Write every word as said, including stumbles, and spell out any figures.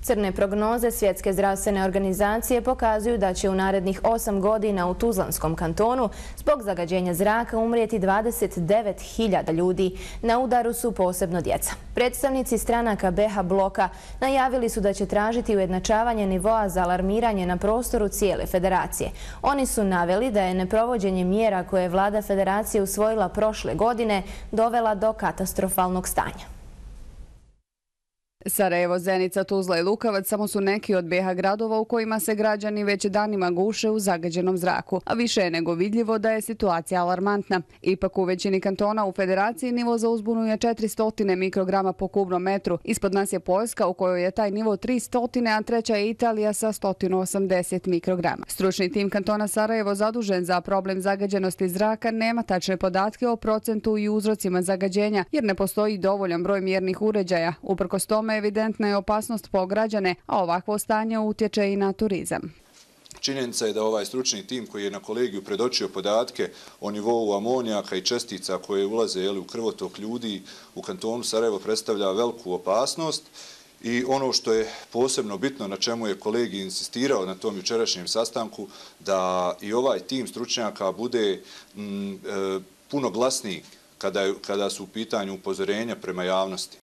Crne prognoze Svjetske zdravstvene organizacije pokazuju da će u narednih osam godina u Tuzlanskom kantonu zbog zagađenja zraka umrijeti dvadeset devet hiljada ljudi. Na udaru su posebno djeca. Predstavnici stranaka be ha bloka najavili su da će tražiti ujednačavanje nivoa za alarmiranje na prostoru cijele federacije. Oni su naveli da je neprovođenje mjera koje je vlada federacije usvojila prošle godine dovela do katastrofalnog stanja. Sarajevo, Zenica, Tuzla i Lukavac samo su neki od be ha gradova u kojima se građani već danima guše u zagađenom zraku, a više je nego vidljivo da je situacija alarmantna. Ipak u većini kantona u federaciji nivo za uzbunu je četiristo mikrograma po kubnom metru. Ispod nas je Poljska u kojoj je taj nivo tristo, a treća je Italija sa sto osamdeset mikrograma. Stručni tim kantona Sarajevo zadužen za problem zagađenosti zraka nema tačne podatke o procentu i uzrocima zagađenja jer ne postoji dovoljan broj mjernih uređaja. Uprkos tome evidentna je opasnost po građane, a ovakvo stanje utječe i na turizam. Činjenica je da ovaj stručni tim koji je na kolegiju predočio podatke o nivou amonijaka i čestica koje ulaze u krvotok ljudi u kantonu Sarajevo predstavlja veliku opasnost. I ono što je posebno bitno, na čemu je kolegij insistirao na tom jučerašnjem sastanku, da i ovaj tim stručnjaka bude m, e, puno glasniji kada, kada su u pitanju upozorenja prema javnosti.